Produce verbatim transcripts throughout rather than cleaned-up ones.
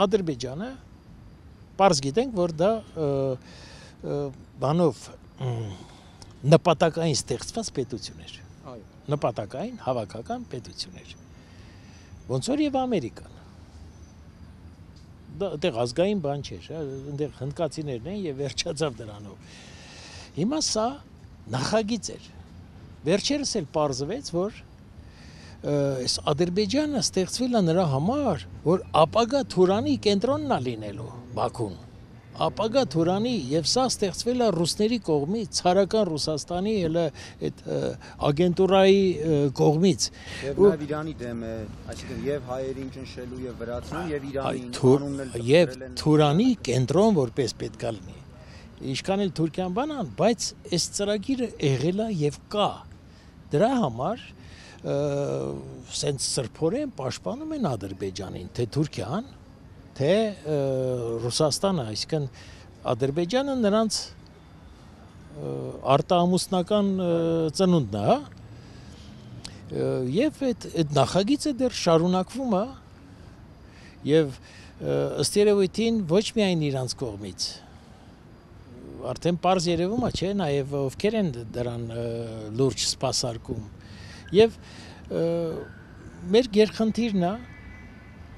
Ադրբեջանը պարզ գիտենք, որ դա բանով նպատակային ստեղծված պետություն էր, նպատակային հավաքական պետություն էր, ոնց որ և Ամերիկան, դա այդեղ ազգային բան չէր, այնտեղ հնդկացիներն են և վերջացավ դրանով, հիմա սա նախագիծ էր, վերջերս էլ պարզվեց, որ այս Ադրբեջանը ստեղծվել է նրա համար, որ ապագա Թուրանի կենտրոնն է լինելու Բաքուն, ապագա Թուրանի և սա ստեղծվել է ռուսների կողմից, ցարական Ռուսաստանի էլ այդ ագենտուրայի կողմից։ Եվ նաև Իրանի դեմ է, այսինքն և հայերին ճնշելու և վրացնում, և Իրանին անունն էլ և Թուրանի կենտրոն որպես պետք է լինի։ Ինչքան էլ Թուրքիան բանան, բայց այս ծրագիրը եղել է և կա։ Դրա համար սենց սրբորեն պաշտպանում են Ադրբեջանին, թե Թուրքիան, թե Ռուսաստանը, այսինքն Ադրբեջանը նրանց արտաամուսնական ծնունդն է, և այդ նախագիծը դեռ շարունակվում է, և ըստ երևույթին ոչ միայն իրանց կողմից, արդեն պարզ երևում է, չէ, նաև ովքեր են դրան լուրջ սպասարկում, և մեր գերխնդիրն է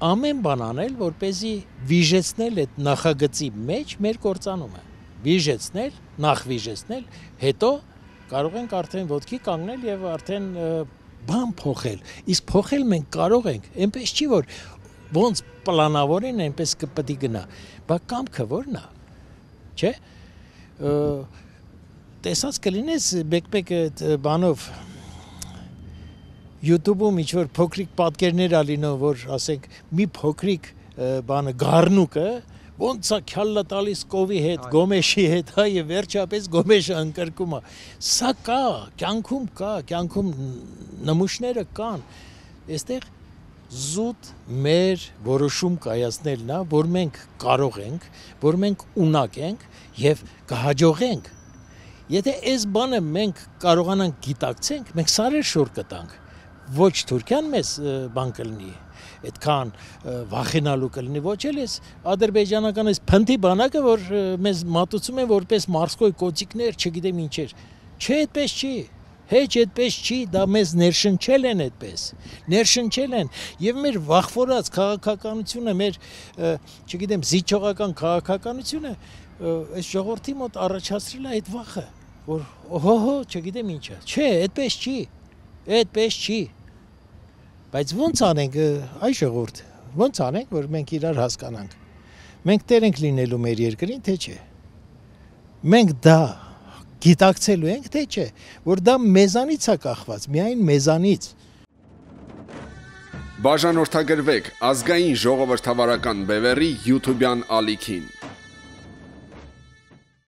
ամեն բան անել, որպեսզի վիժեցնել այդ նախագծի մեջ մեր կործանումը, վիժեցնել, նախ վիժեցնել, հետո կարող ենք արդեն ոտքի կանգնել և արդեն բան փոխել, իսկ փոխել մենք կարող ենք, այնպես չի, որ ոնց պլանավորեն, այնպես կպետք է գնա, բա կամքը որն է, չէ, տեսած կլինես մեկ-մեկ բանով YouTube-ում ինչ-որ փոքրիկ պատկերներ ա լինում, որ ասենք մի փոքրիկ բանը գառնուկը ոնց է քյալլա տալիս կովի հետ, գոմեշի հետ, հա, եւ վերջապես գոմեշը ընկրկում է։ Սա կա, կյանքում կա, կյանքում նմուշները կան։ Այստեղ զուտ մեր որոշում կայացնելն է, որ մենք կարող ենք, որ մենք ունակ ենք եւ կհաջողենք։ Եթե այս բանը մենք կարողանանք գիտակցենք, մենք սարեր շուռ կտանք։ Ոչ Թուրքիան մեզ բան կլինի, այդքան վախենալու կլինի, ոչ էլ ես ադրբեջանական այս փնթի բանակը, որ մեզ մատուցում են որպես մարսկոյ կոծիկներ, չգիտեմ ինչեր, չէ, այդպես չի, հեչ այդպես չի, դա մեզ ներշնչել են այդպես, ներշնչել են, և մեր վախվորած քաղաքականությունը, մեր, չգիտեմ, զիջողական քաղաքականությունը, այս ժողովրդի մոտ առաջացրել է այդ վախը, որ հո-հո, չգիտեմ ինչը, չէ, այդպես չի, այդպես չի, բայց ոնց անենք, այ ժողովուրդ, ոնց անենք, որ մենք իրար հասկանանք, մենք տեր ենք լինելու մեր երկրին, թե չէ, մենք դա գիտակցելու ենք, թե չէ, որ դա մեզանից է կախված, միայն մեզանից։ Բաժանորդագրվեք ազգային ժողովրդավարական բևեռի յութուբյան ալիքին։